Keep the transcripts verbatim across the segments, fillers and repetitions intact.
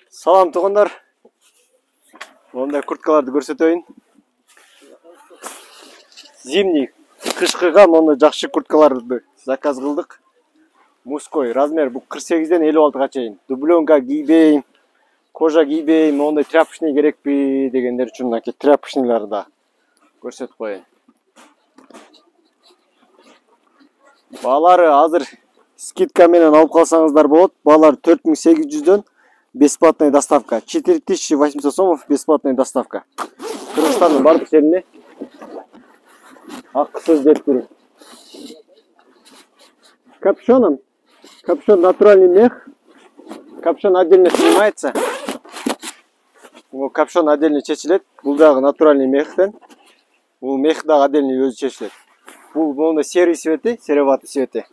Салам тугандар. Мондай курткаларды көрсөтөйүн. Зимний, кышкыга мондай жакшы курткаларды заказ кылдык. Мужской размер бу кырк сегизден элүү алтыга чейин. Дубленка кийбейм, кожа кийбейм, мондай тряпочный керекпи дегендер үчүн мынакей тряпочныйларды да көрсөтүп коеюн. Баалары азыр скидка менен алып калсаңыздар болот. Баалар төрт миң сегиз жүздөн бесплатная доставка. четыре тысячи восемьсот сомов бесплатная доставка. Кыргызстандын бардык жерине акысыз жеткирүү. Капюшоном. Капюшон натуральный мех. Капюшон отдельно снимается. Капюшон отдельно чечилет. Бул дагы натуральный мехтен. Бул мех дагы отдельно өзү чечилет. Бул мондай серый цвети, сероватый цвети.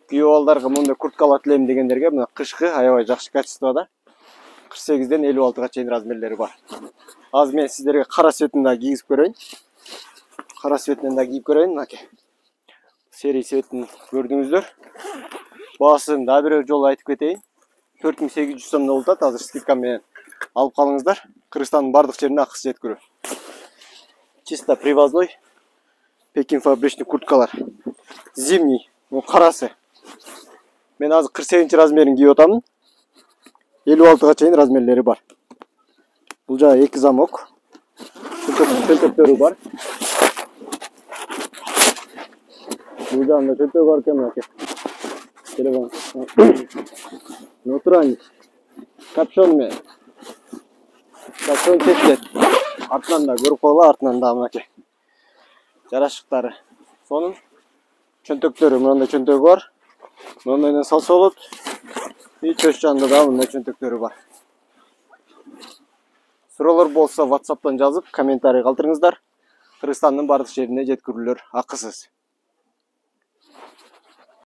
Күйөө балдарга мондай курткалар тилейм дегендерге мына кышкы аябай жакшы качествода. кырк сегизден элүү алтыга чейин размерлери бар. Азыр мен сиздерге кара цветин да кийгизип көрөйүн. Кара цветинен да кийип көрөйүн мынакей. Серый цветин көрдүңүздөр. Баасын дагы бир жолу айтып кетейин. төрт миң сегиз жүз сомдон болуп атат. Азыр скидка менен алып калыңыздар. Кыргызстандын бардык жерине акысыз жеткирүү. Чисто привозной Пекин фабричный курткалар. Зимний, ну карасы. Мен азыр кырк сегизинчи размерин кийип атамын. элүү алтыга чейин размерлери бар. Бул жагы эки замок. Чөнтөктөрү бар. Бул жагында чөнтөк бар экен мынакей. Телефон. Натуральный. Капюшон менен. Капюшон чечилет. Артынан да көрүп койгула, артынан да мынакей. Жарашыктары. Сонун чөнтөктөрү мындай чөнтөгү бар. Мындайдан салса болот. И чөч жанында да мындай чөнтөктөрү бар. Суроолор болсо WhatsApp'тан жазып, комментарий калтырыңыздар. Кыргызстандын бардык жерине жеткирүүлөр акысыз.